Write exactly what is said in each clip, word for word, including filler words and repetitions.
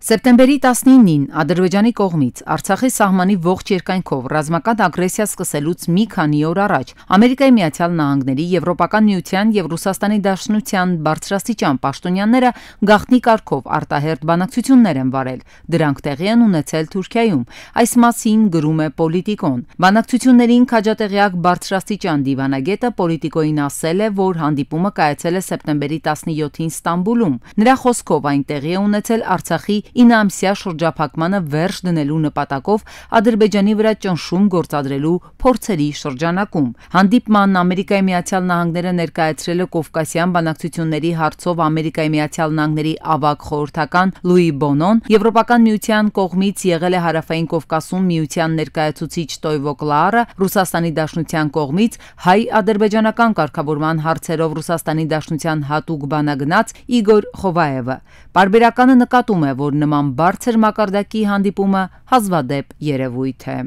Սեպտեմբերի տասնինին Ադրբեջանի կողմից Արցախի սահմանի ողջ երկայնքով ռազմական ագրեսիա սկսելուց մի քանի օր առաջ Ամերիկայի Միացյալ Նահանգների, Եվրոպական միության և Ռուսաստանի Դաշնության բարձրաստիճան պաշտոնյաները գաղտնի կարգով արտահերթ բանակցություններ են վարել։ Դրանք տեղի են ունեցել Թուրքիայում։ Այս մասին գրում է Պոլիտիկոն։ Բանակցություններին քաջատեղյակ բարձրաստիճան դիվանագետը Պոլիտիկոյին ասել է, որ հանդիպումը կայացել է սեպտեմբերի տասնյոթին Ստամբուլում։ Նրա խոսքով այն տեղի է ունեցել Արցախի ինամսյա շրջափակմանը վերջ դնելու նպատակով Ադրբեջանի վրա ճնշում գործադրելու փորձերի շրջանակում։ Հանդիպման Ամերիկայի Միացյալ Նահանգները ներկայացրել է Կովկասյան բանակցությունների հարցով Ամերիկայի Միացյալ Նահանգների ավագ խորհրդական Լուի Բոնոն, Եվրոպական միության կողմից եղել է Հարավային Կովկասում միության ներկայացուցիչ Տոյվո Կլարը, Ռուսաստանի Դաշնության կողմից հայ-ադրբեջանական կարգավորման հարցերով Ռուսաստանի Դաշնության հատուկ բանագնաց Իգոր Խովայևը։ Պարբերականը նկատում է, որ նման բարձր մակարդակի հանդիպումը հազվադեպ երևույթ է։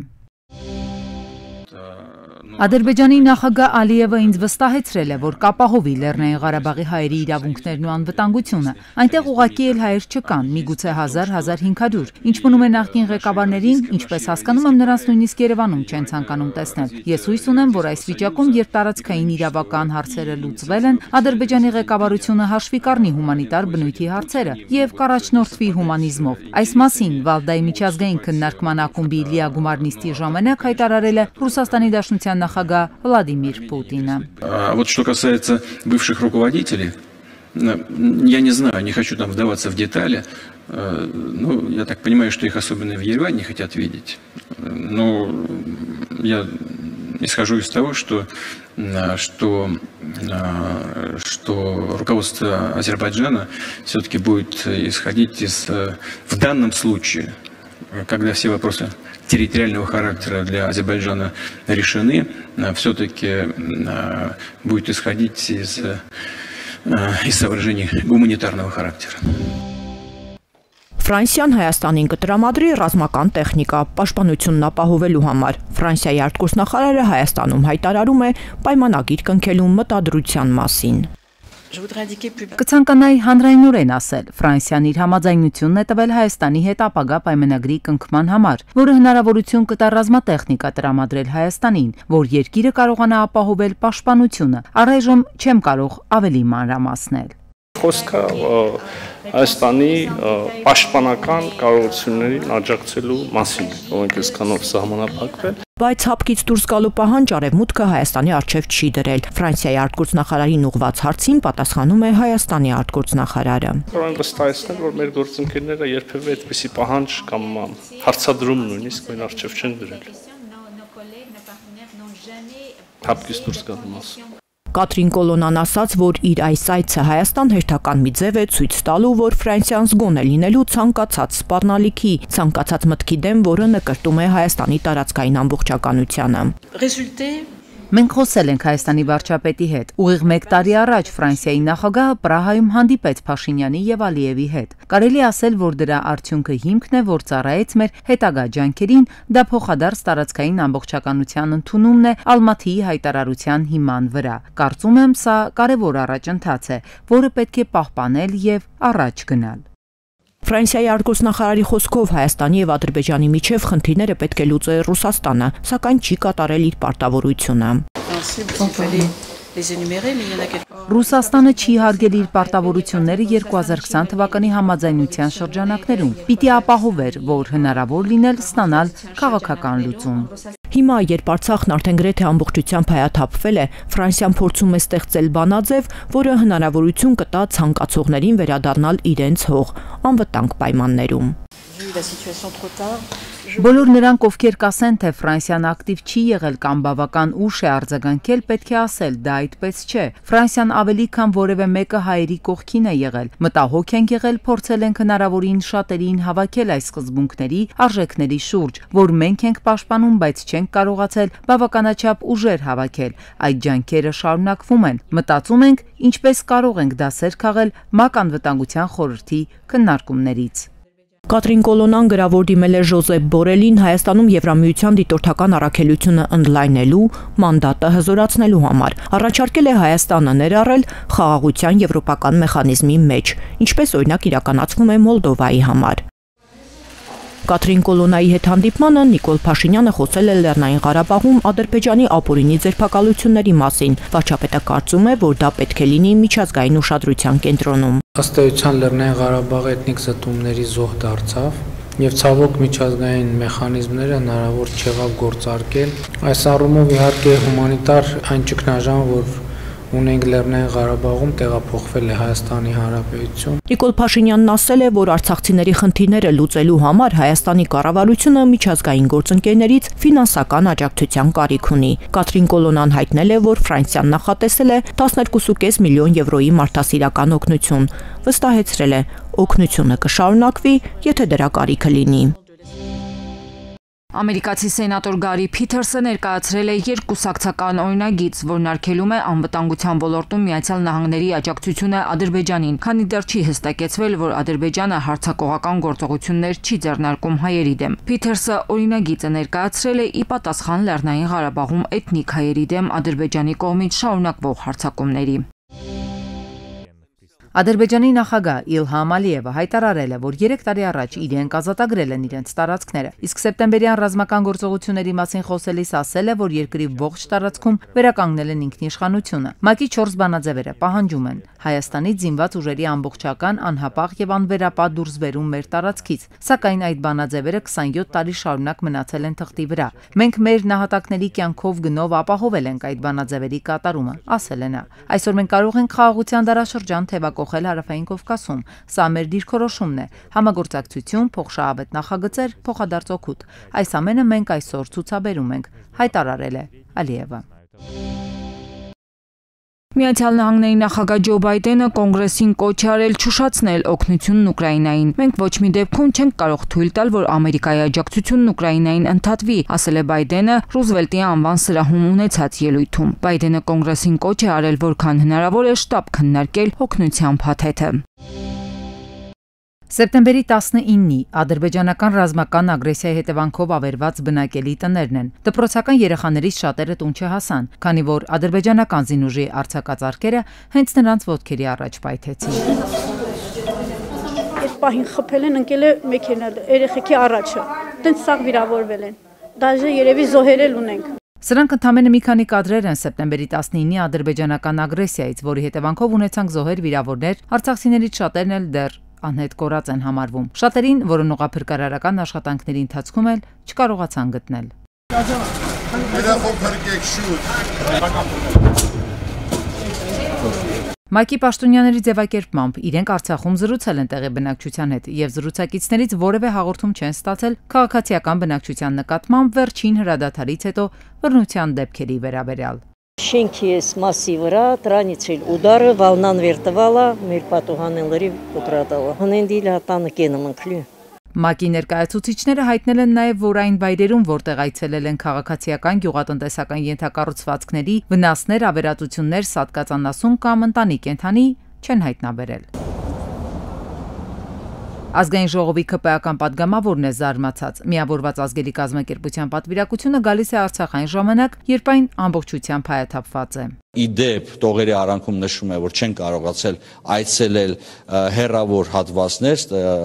Ադրբեջանի նախագահ Ալիևը ինձ վստահեցրել է, որ կապահովի Լեռնային Ղարաբաղի հայերի իրավունքներն ու անվտանգությունը։ Այնտեղ ուղղակի էլ հայեր չկան, միգուցե հազար - հազար հինգ հարյուր։ Ինչ մնում է նախկին ղեկավարներին, ինչպես հասկանում եմ, նրանց նույնիսկ Երևանում չեն ցանկանում տեսնել։ Ես հույս ունեմ, որ այս վիճակում, երբ տարածքային իրավական հարցերը լուծվել են, Ադրբեջանի ղեկավարությունը հաշվի կառնի հումանիտար բնույթի հարցերը և կառաջնորդվի հումանիզմով։ Այս մասին Վալդայի միջազգային քննարկման ակումբի լիագումար նիստի ժամանակ հայտարարել է Ռուսաստանի Դաշնության նախագահ Վլադիմիր Պուտինը։ Вот что касается бывших руководителей, я не знаю, не хочу там вдаваться в детали, ну, я так понимаю, что их особенно в Ереване не хотят видеть, но я исхожу из того, что, что, что руководство Азербайджана все-таки будет исходить из, в данном случае, когда все вопросы территориального характера для Азербайджана решены, все-таки будет исходить из, из соображений гуманитарного характера. Ֆրանսիան Հայաստանին կտրամադրի ռազմական տեխնիկա պաշտպանությունն ապահովելու համար։ Ֆրանսիայի արտգործնախարարը Հայաստանում հայտարարում է պայմանագիր կնքելու մտադրության մասին։ Կցանկանայի հանրայնորեն ասել, Ֆրանսիան իր համաձայնությունն է տվել Հայաստանի հետ ապագա պայմանագրի կնքման համար, որը հնարավորություն կտա ռազմատեխնիկա տրամադրել Հայաստանին, որ երկիրը կարողանա ապահովել պաշտպանությունը։ Առայժմ չեմ կարող ավելի մանրամասնել։ Խոսքը Հայաստանի պաշտպանական կարողություններին աջակցելու մասին, որոնք այսքանով սահմանափակվել։ Բայց հապկից դուրս գալու պահանջ Արևմուտքը Հայաստանի առջև չի դրել։ Ֆրանսիայի արտգործնախարարին ուղղված հարցին պատասխանում է Հայաստանի արտգործնախարարը։ Որոնք վստահեցնել, որ մեր գործընկերները երբևէ այդպիսի պահանջ կամ հարցադրում նույնիսկ մեր առջև չեն դրել։ Հապկից դուրս գալու մասին։ Կատրին Կոլոնան ասաց, որ իր այս այցը Հայաստան հերթական մի ձև է ցույց տալու, որ Ֆրանսիան զգոն է լինելու ցանկացած սպառնալիքի, ցանկացած մտքի դեմ, որը նկրտում է Հայաստանի տարածքային ամբողջականությանը։ Մենք խոսել ենք Հայաստանի վարչապետի հետ։ Ուղիղ մեկ տարի առաջ Ֆրանսիայի նախագահը Պրահայում հանդիպեց Փաշինյանի եւ Ալիևի հետ։ Կարելի ասել, որ դրա արդյունքը հիմքն է, որ ծառայեց մեր հետագա ջանքերին, դա փոխադարձ տարածքային ամբողջականության ընդունումն է Ալմաթիի հայտարարության հիման վրա։ Կարծում եմ, սա կարևոր առաջընթաց է, որը պետք է պահպանել եւ առաջ գնալ։ Ֆրանսիայի արտգործնախարարի խոսքով Հայաստանի եւ Ադրբեջանի միջև խնդիրները պետք է լուծի Ռուսաստանը, սակայն չի կատարել իր պարտավորությունը։ Ռուսաստանը չի հարգել իր պարտավորությունները երկու հազար քսան թվականի համաձայնության շրջանակներում։ Պիտի ապահովեր, որ հնարավոր լինել ստանալ քաղաքական լուծում։ Հիմա, երբ Արցախն արդեն գրեթե ամբողջությամբ հայաթափվել է, Ֆրանսիան փորձում է ստեղծել բանաձև, որը հնարավորություն կտա ցանկացողներին վերադառնալ իրենց հող, անվտանգ պայմաններում։ Բոլոր նրանք, ովքեր կասեն, թե Ֆրանսիան ակտիվ չի եղել կամ բավական ուշ է արձագանքել, պետք է ասել, դա այդպես չէ։ Ֆրանսիան ավելի քան որևէ մեկը հայերի կողքին է եղել։ Մտահոգ ենք եղել, փորձել ենք հնարավորին շատերին հավաքել այս սկզբունքների, արժեքների շուրջ, որ մենք ենք պաշտպանում, բայց չենք կարողացել բավականաչափ ուժեր հավաքել։ Այդ ջանքերը շարունակվում են։ Մտածում ենք, ինչպես կարող ենք դասեր քաղել ՄԱԿ անվտանգության խորհրդի քննարկումներից։ Կատրին Կոլոնան գրավոր դիմել է Ժոզեփ Բորելին Հայաստանում Եվրամիության դիտորդական առաքելությունը ընդլայնելու, մանդատը հզորացնելու համար։ Առաջարկել է Հայաստանը ներառել խաղաղության եվրոպական մեխանիզմի մեջ, ինչպես օրինակ իրականացվում է Մոլդովայի համար։ Կատրին Կոլոնայի հետ հանդիպմանը Նիկոլ Փաշինյանը խոսել է Լեռնային Ղարաբաղում Ադրբեջանի ապօրինի ձերբակալությունների մասին։ Վարչապետը կարծում է, որ դա պետք է լինի միջազգային ուշադրության կենտրոնում։ Ըստ էության Լեռնային Ղարաբաղը էթնիկ զտումների զոհ դարձավ եւ ցավոք միջազգային մեխանիզմները հնարավոր չեղավ գործարկել։ Այս առումով իհարկե հումանիտար այն ճգնաժամը, որ ունենք Լեռնային Ղարաբաղում, տեղափոխվել է Հայաստանի Հանրապետություն։ Նիկոլ Փաշինյանն ասել է, որ արցախցիների խնդիրները լուծելու համար Հայաստանի կառավարությունը միջազգային գործընկերներից ֆինանսական աջակցության կարիք ունի։ Կատրին Կոլոնան հայտնել է, որ Ֆրանսիան նախատեսել է տասներկու կόμμα պենս միլիոն եվրոյի մարդասիրական օգնություն։ Վստահեցրել է, օգնությունը կշարունակվի, եթե դրա կարիքը լինի։ Ամերիկացի սենատոր Գարի Փիթերսը ներկայացրել է երկկուսակցական օրինագիծ, որն արգելում է անվտանգության ոլորտում Միացյալ Նահանգների աջակցությունը Ադրբեջանին, քանի դեռ չի հստակեցվել, որ Ադրբեջանը հարձակողական գործողություններ չի ձեռնարկում հայերի դեմ։ Փիթերսը օրինագիծը ներկայացրել է ի պատասխան Լեռնային Ղարաբաղում էթնիկ հայերի դեմ Ադրբեջանի կողմից շարունակվող հարձակումների։ Ադրբեջանի նախագահ Իլհամ Ալիևը հայտարարել է, որ երեք տարի առաջ իրենք ազատագրել են իրենց տարածքները, իսկ սեպտեմբերյան ռազմական գործողությունների մասին խոսելիս ասել է, որ երկրի ողջ տարածքում վերականգնել են ինքնիշխանությունը։ ՄԱԿ-ի չորս բանաձևերը պահանջում են Հայաստանից զինված ուժերի ամբողջական, անհապաղ եւ անվերապահ դուրսբերում մեր տարածքից, սակայն այդ բանաձևերը քսանյոթ տարի շարունակ մնացել են թղթի վրա։ Մենք մեր նահատակների կյանքով գնով ապահովել ենք այդ բանաձևերի կատարումը, ասել է նա։ Այսօր մենք կարող ենք խաղաղության դարաշրջան թևակողել Հարավային Կովկասում։ Սա մեր դիրքորոշումն է։ Համագործակցություն, փոխշահավետ նախագծեր, փոխադարձ օգուտ։ Այս ամենը մենք այսօր ցուցաբերում ենք, հայտարարել է Ալիևը։ Միացյալ Նահանգների նախագահ Ջո Բայդենը կոնգրեսին կոչ է արել չուշացնել օգնությունն Ուկրաինային։ Մենք ոչ մի դեպքում չենք կարող թույլ տալ, որ Ամերիկայի աջակցությունն Ուկրաինային ընդհատվի, ասել է Բայդենը Ռուզվելտի անվան սրահում ունեցած ելույթում։ Բայդենը կոնգրեսին կոչ է արել, որքան հնարավոր է շտապ քննարկել օգնության փաթեթը։ Սեպտեմբերի տասնինի ադրբեջանական ռազմական ագրեսիայի հետևանքով ավերված բնակելի տներն են։ Դպրոցական երեխաներից շատերը տուն չհասան, քանի որ ադրբեջանական զինուժի արձակածարկերը հենց նրանց ոտքերի առաջ պայթեցին։ Այս պահին խփել են, ընկել է մեքենան երեխեքի առաջը։ Տենց սաղ վիրավորվել են։ Դաժե երևի զոհեր էլ ունենք։ Սրանք ընդամենը մի քանի կադրեր են սեպտեմբերի տասնինի ադրբեջանական ագրեսիայից, որի հետևանքով ունեցանք զոհեր, վիրավորներ, արցախցիներից շատերն էլ դեռ անհետ կորած են համարվում։ Շատերին, որոնք ուղղափրկարարական աշխատանքների ընթացքում էլ չկարողացան գտնել։ ՄԱԿ-ի պաշտոնյաների ձևակերպմամբ իրենք Արցախում զրուցել են տեղի բնակչության հետ եւ զրուցակիցներից որևէ հաղորդում չեն ստացել քաղաքացիական բնակչության նկատմամբ վերջին հրադադարից հետո բռնության դեպքերի վերաբերյալ։ Շենքի այս մասի վրա դրանից էլ ուդարը վալնան վերտվալա մեր պատուհանների կոտրատալա։ Հնենդիլ հատանը կենը մնքլի։ ՄԱԿ-ի ներկայացուցիչները հայտնել են նաև, որ այն վայրերում, որտեղ այցելել են քաղաքացիական գյուղատնտեսական ենթակառուցվածքների վնասներ, ավերածություններ, սատկածանասուն կամ ընտանի կենդանի չեն հայտնաբերել։ Ազգային ժողովի ՔՊ-ական падգամավորն է զարմացած։ Միավորված ազգերի կազմակերպության պատվիրակությունը գալիս է Արցախային ժամանակ, երբ այն ամբողջությամբ հայաթափված է։ Իդեպ տողերի արանքում նշում է, որ չեն կարողացել այցելել հեռավոր հատվածներ,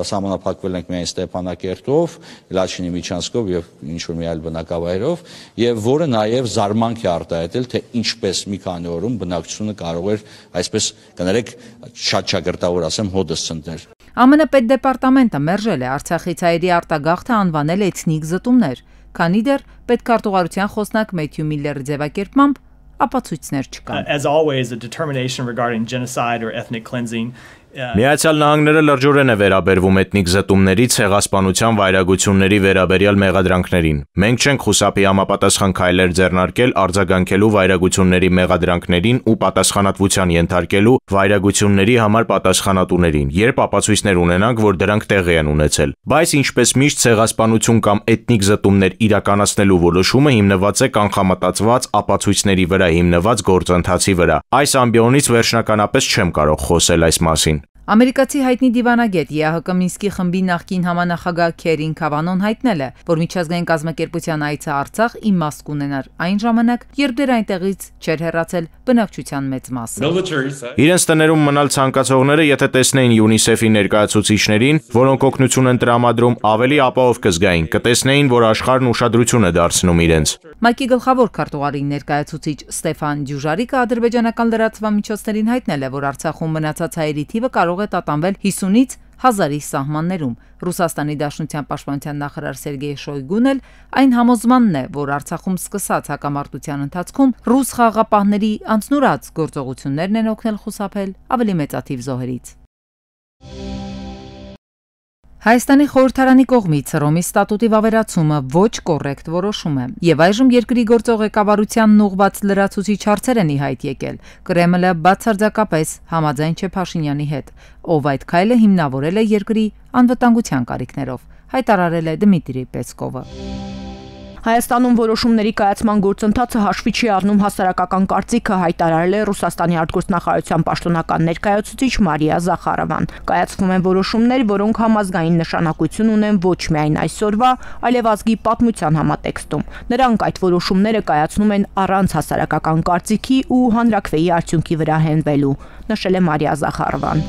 սահմանափակվել ենք միայն Ստեփանակերտով, Լաչինի Միչանսկով եւ ինչ-որ մի այլ բնակավայրով, եւ որը նաեւ զարմանք է արտահայտել, թե ինչպես մի քանի օրում բնակչությունը կարող էր, այսպես կներեք, շատ ճակերտավոր ասեմ, հոդս ցնդել։ ԱՄՆ պետդեպարտամենտը մերժել է Արցախից հայերի արտագաղթը անվանել էթնիկ զտումներ, քանի դեռ պետքարտուղարության խոսնակ Մեթյու Միլլերի ձևակերպմամբ ապացույցներ չկան։ As always, a determination regarding genocide or ethnic cleansing. Միացյալ Նահանգները լրջորեն է վերաբերվում էթնիկ զտումների, ցեղասպանության վայրագությունների վերաբերյալ մեղադրանքներին։ Մենք չենք խուսափի համապատասխան քայլեր ձեռնարկել արձագանքելու վայրագությունների մեղադրանքներին ու պատասխանատվության ենթարկելու վայրագությունների համար պատասխանատուներին, երբ ապացույցներ ունենանք, որ դրանք տեղի են ունեցել։ Բայց ինչպես միշտ ցեղասպանություն կամ էթնիկ զտումներ իրականացնելու որոշումը հիմնված է կանխամտածված ապացույցների վրա հիմնված գործընթացի վրա։ Այս ամբիոնից վերջնականապես չեմ կարող խոսել այս մասին։ Ամերիկացի հայտնի դիվանագետ ԵԱՀԿ Մինսկի խմբի նախկին համանախագահ Քերին Քավանոն հայտնել է, որ միջազգային կազմակերպության այցը Արցախ իմաստ կունենար այն ժամանակ, երբ դեռ այնտեղից չէր հեռացել բնակչության մեծ մասը։ Իրենց տներում մնալ ցանկացողները, եթե տեսնեին ՅՈՒՆԻՍԵՖ-ի ներկայացուցիչներին, որոնք օգնություն են տրամադրում, ավելի ապահով կզգային, կտեսնեին, որ աշխարհն ուշադրություն է դարձնում իրենց։ ՄԱԿ-ի գլխավոր քարտուղարի ներկայացուցիչ Ստեփան Դյուժարիկը ադրբեջանական լրատվամիջոցներին հայտնել է, որ Արցախում մնացած հայերի թիվը կարող է տատանվել հիսունից հազարի սահմաններում։ Ռուսաստանի Դաշնության պաշտպանության նախարար Սերգեյ Շոյգուն էլ այն համոզմանն է, որ Արցախում սկսած հակամարտության ընթացքում ռուս խաղաղապահների անձնուրաց գործողություններն են օգնել խուսափել ավելի մեծաթիվ զոհերից։ Հայաստանի խորհրդարանի կողմից Հռոմի ստատուտի վավերացումը ոչ կոռեկտ որոշում է, եւ այժմ երկրի գործող ղեկավարությանն ուղղված լրացուցիչ հարցեր են ի հայտ եկել։ Կրեմլը բացարձակապես համաձայն չէ Փաշինյանի հետ, ով այդ քայլը հիմնավորել է երկրի անվտանգության կարիքներով, հայտարարել է Դմիտրի Պեսկովը։ Հայաստանում որոշումների կայացման գործընթացը հաշվի չի առնում հասարակական կարծիքը, հայտարարել է Ռուսաստանի արտգործնախարարության պաշտոնական ներկայացուցիչ Մարիա Զախարովան։ Կայացվում են որոշումներ, որոնք համազգային նշանակություն ունեն ոչ միայն այսօրվա, այլև ազգի պատմության համատեքստում։ Նրանք այդ որոշումները կայացնում են առանց հասարակական կարծիքի ու հանրաքվեի արդյունքի վրա հենվելու, նշել է Մարիա Զախարովան։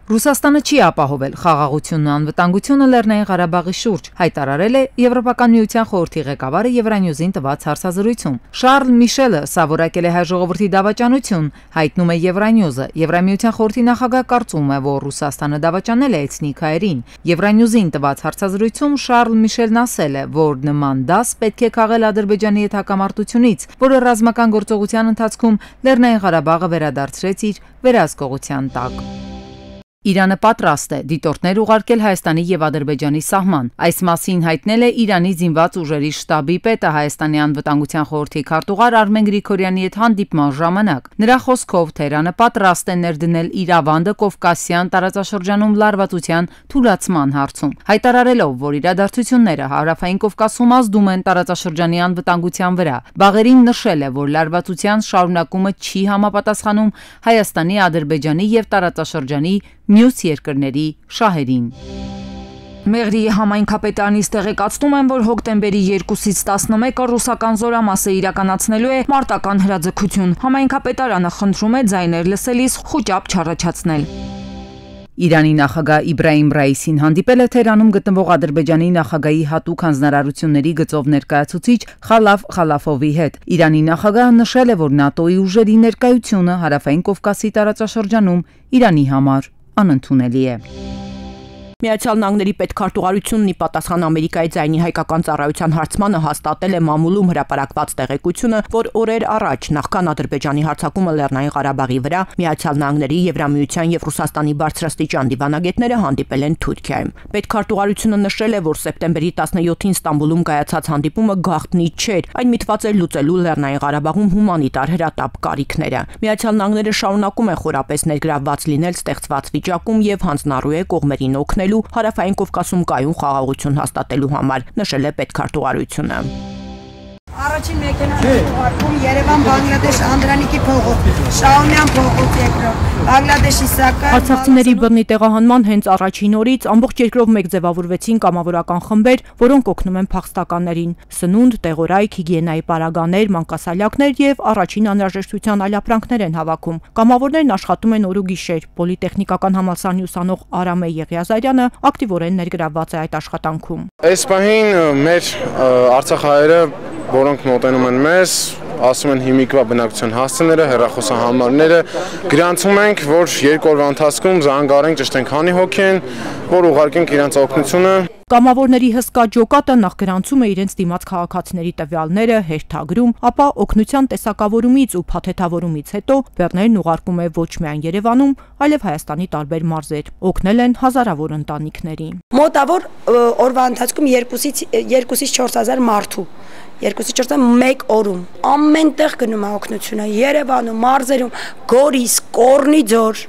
Ռուսաստանը չի ապահովել խաղաղությունն ու անվտանգությունը Լեռնային Ղարաբաղի շուրջ, հայտարարել է Եվրոպական միության խորհրդի ղեկավարը Եվրանյուզին տված հարցազրույցում։ Շարլ Միշելը սովորակել է հայ ժողովրդի դավաճանություն, հայտնում է Եվրանյուզը։ Եվրամիության խորհրդի նախագահ կարծում է, որ Ռուսաստանը դավաճանել է էթնիկ հայերին։ Եվրանյուզին տված հարցազրույցում Շարլ Միշելն ասել է, որ նման դաս պետք է քաղել Ադրբեջանի հետ հակամարտությունից, որը ռազմական գործողության ընթացքում Լեռնային Ղարաբաղը վերադարձրեց իր վերահսկողության տակ։ Իրանը պատրաստ է դիտորդներ ուղարկել Հայաստանի եւ Ադրբեջանի սահման։ Այս մասին հայտնել է Իրանի զինված ուժերի շտաբի պետը Հայաստանի անվտանգության խորհրդի քարտուղար Արմեն Գրիգորյանի հետ հանդիպման ժամանակ։ Նրա խոսքով Թեհրանը պատրաստ է ներդնել իր ավանդը Կովկասյան տարածաշրջանում լարվածության թուլացման հարցում, հայտարարելով, որ իրադարձությունները Հարավային Կովկասում ազդում են տարածաշրջանի անվտանգության վրա։ Բաղերին նշել է, որ լարվածության շարունակումը չի համապատասխանում Հայաստանի, Ադրբեջանի եւ տարածաշրջանի մյուս երկրների շահերին։ Մեղրիի համայնքապետարանից տեղեկացնում են, որ հոկտեմբերի երկուսից տասնմեկը ռուսական զորամասը իրականացնելու է մարտական հրաձգություն։ Համայնքապետարանը խնդրում է ձայներ լսելիս խուճապ չառաջացնել։ Իրանի նախագահ Իբրահիմ Ռայիսին հանդիպել է Թեհրանում գտնվող Ադրբեջանի նախագահի հատուկ հանձնարարությունների գծով ներկայացուցիչ Խալաֆ Խալաֆովի հետ։ Իրանի նախագահը նշել է, որ ՆԱՏՕ-ի ուժերի ներկայությունը Հարավային Կովկասի տարածաշրջանում Իրանի համար անընդունելի է։ Միացյալ Նահանգների պետքարտուղարությունն ի պատասխան Ամերիկայի ձայնի հայկական ծառայության հարցմանը հաստատել է մամուլում հրապարակված տեղեկությունը, որ օրեր առաջ նախքան Ադրբեջանի հարձակումը Լեռնային Ղարաբաղի վրա Միացյալ Նահանգների, Եվրամիության եւ Ռուսաստանի բարձրաստիճան դիվանագետները հանդիպել են Թուրքիայում։ Պետքարտուղարությունը նշել է, որ սեպտեմբերի տասնյոթին Ստամբուլում կայացած հանդիպումը գաղտնի չէր, այն միտված էր լուծելու Լեռնային Ղարաբաղում հումանիտար հրատապ կարիքները։ Միացյալ Նահանգները շարունակում է խորապես ներգրավված լինել ստեղծված վիճակում եւ հանձնառու է կողմերին օգնել Հարավային Կովկասում կայուն խաղաղություն հաստատելու համար, նշել է պետքարտուղարությունը։ Առաջին մեքենան ուղարկում Երևան Բանգլադեշ Անդրանիկի փողոց, Շահումյան փողոց երկրորդ, Բանգլադեշի Սակար։ Արցախցիների բռնի տեղահանման հենց առաջին օրից ամբողջ երկրով մեկ ձևավորվեցին կամավորական խմբեր, որոնք օգնում են փախստականներին։ Սնունդ, տեղորայք, հիգիենայի պարագաներ, մանկասալյակներ եւ առաջին անհրաժեշտության այլապրանքներ են հավաքում։ Կամավորներն աշխատում են օր ու գիշեր։ Պոլիտեխնիկական համալսարանի ուսանող Արամե Եղիազարյանը ակտիվորեն ներգրավված է այդ աշխատանքում։ Այս պահին մեր արցախահայերը, որոնք մոտենում են մեզ, ասում են հիմիկվա բնակության հասցեները, հեռախոսահամարները, գրանցում ենք, որ երկու օրվա ընթացքում զանգարենք, ճշտենք քանի հոգի են, որ ուղարկենք իրենց օգնությունը։ Կամավորների հսկա ջոկատը նախ գրանցում է իրենց դիմաց քաղաքացիների տվյալները, հերթագրում, ապա օգնության տեսակավորումից ու փաթեթավորումից հետո բեռներն ուղարկում է ոչ միայն Երևանում, այլև Հայաստանի տարբեր մարզեր։ Օգնել են հազարավոր ընտանիքների։ Մոտավոր օրվա ընթացքում երկուսից չորս հազար մարդու երկուսից չորս հազար մեկ օրում ամենտեղ գնում է օգնությունը Երևանում, մարզերում, Գորիս, Կորնիձոր,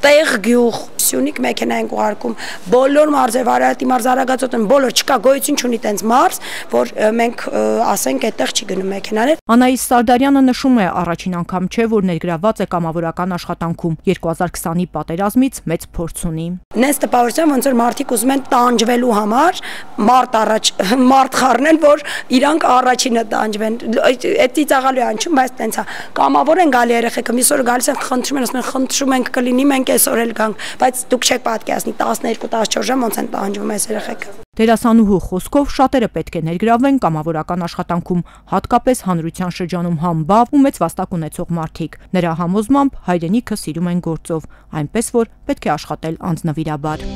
տեղ գյուղ Սյունիք մեքենա են ուղարկում բոլոր մարզեր Արարատի մարզ Արագածոտ են բոլոր չկա գոյություն չունի տենց մարզ որ մենք ասենք այդտեղ չի գնում մեքենաներ Անահիս Սարդարյանը նշում է առաջին անգամ չէ որ ներգրավված է կամավորական աշխատանքում երկու հազար քսանի պատերազմից մեծ փորձ ունի Նենց տպավորության ոնց որ մարդիկ ուզում են տանջվելու համար մարդ առաջ մարդ խառնել որ իրանք առաջինը տանջվեն այդ ծիծաղալու անջում բայց տենց է կամավոր են գալի երեխեքը միսօր գալիս են խնդրում են ասում են խնդրում ենք կլինի մենք այսօր էլ գանք բայց դուք չեք պատկերացնի տասներկու տասնչորս ժամ ոնց են տանջվում այս երեխեքը Դերասանուհու խոսքով շատերը պետք է ներգրավվեն կամավորական աշխատանքում, հատկապես հանրության շրջանում համբավ ու մեծ վաստակ ունեցող մարդիկ։ Նրա համոզմամբ հայրենիքը սիրում են գործով, այնպես որ պետք է աշխատել անձնվիրաբար։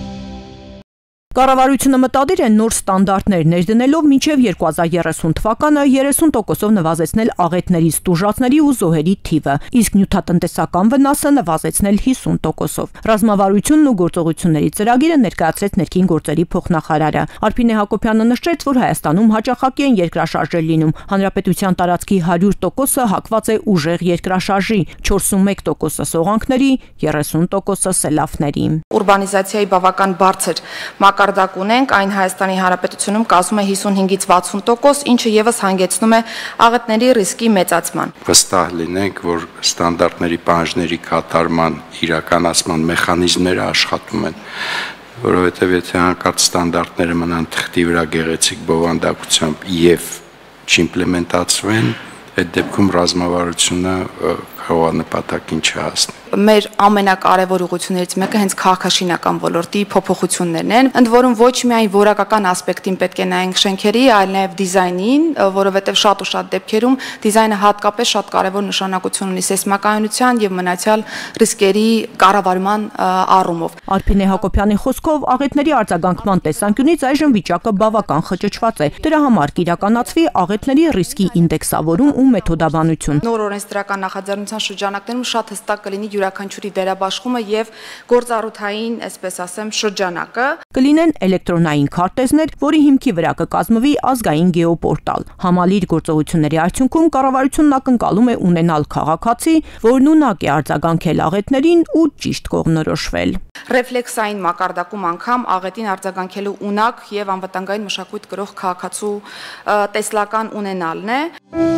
Կառավարությունը մտադիր է նոր ստանդարտներ ներդնելով մինչև երկու հազար երեսուն թվականը երեսուն տոկոսով նվազեցնել աղետների, ստուժածների ու զոհերի թիվը, իսկ նյութատնտեսական վնասը նվազեցնել հիսուն տոկոսով։ Ռազմավարությունն ու գործողությունների ծրագիրը ներկայացրեց ներքին գործերի փոխնախարարը։ Արփինե Հակոբյանը նշեց, որ Հայաստանում հաճախակի են երկրաշարժեր լինում։ Հանրապետության տարածքի հարյուր տոկոսը հակված է ուժեղ երկրաշարժի, չորսունմեկ տոկոսը սողանքների, երեսուն տոկոսը սելավների։ Ուրբանիզացիայի բավական բարձր մակարդակ ունենք, այն Հայաստանի Հանրապետությունում կազմում է հիսունհինգից վաթսուն տոկոս, ինչը եւս հանգեցնում է աղետների ռիսկի մեծացման։ Վստահ լինենք, որ ստանդարտների պահանջների կատարման իրականացման մեխանիզմները աշխատում են, որովհետեւ եթե հանկարծ ստանդարտները մնան թղթի վրա գեղեցիկ բովանդակությամբ եւ չիմպլեմենտացվեն, այդ դեպքում ռազմավարությունը կարող է նպատակին չհասնի։ Մեր ամենակարևոր ուղղություններից մեկը հենց քաղաքաշինական ոլորտի փոփոխություններն են, ընդ որում ոչ միայն որակական ասպեկտին պետք է նայենք շենքերի, այլ նաև դիզայնին, որովհետև շատ ու շատ դեպքերում դիզայնը հատկապես շատ կարևոր նշանակություն ունի սեյսմականության եւ մնացյալ ռիսկերի կառավարման առումով։ Արփինե Հակոբյանի խոսքով աղետների արձագանքման տեսանկյունից այժմ վիճակը բավական խճճված է։ Դրա համար կիրականացվի աղետների ռիսկի ինդեքսավորում ու մեթոդաբանություն։ Նոր օրենսդրական նախաձեռնության շրջանակներում շատ հստակ կլինի յուրաքանչյուրի վերաբաշխումը եւ գործառութային, այսպես ասեմ, շրջանակը։ Կլինեն էլեկտրոնային քարտեզներ, որի հիմքի վրա կկազմվի ազգային գեոպորտալ։ Համալիր գործողությունների արդյունքում կառավարությունն ակնկալում է ունենալ քաղաքացի, որն ունակ է արձագանքել աղետներին ու ճիշտ կողմնորոշվել։ Ռեֆլեքսային մակարդակում անգամ աղետին արձագանքելու ունակ եւ անվտանգային մշակույթ կրող քաղաքացու տեսլական ունենալն է։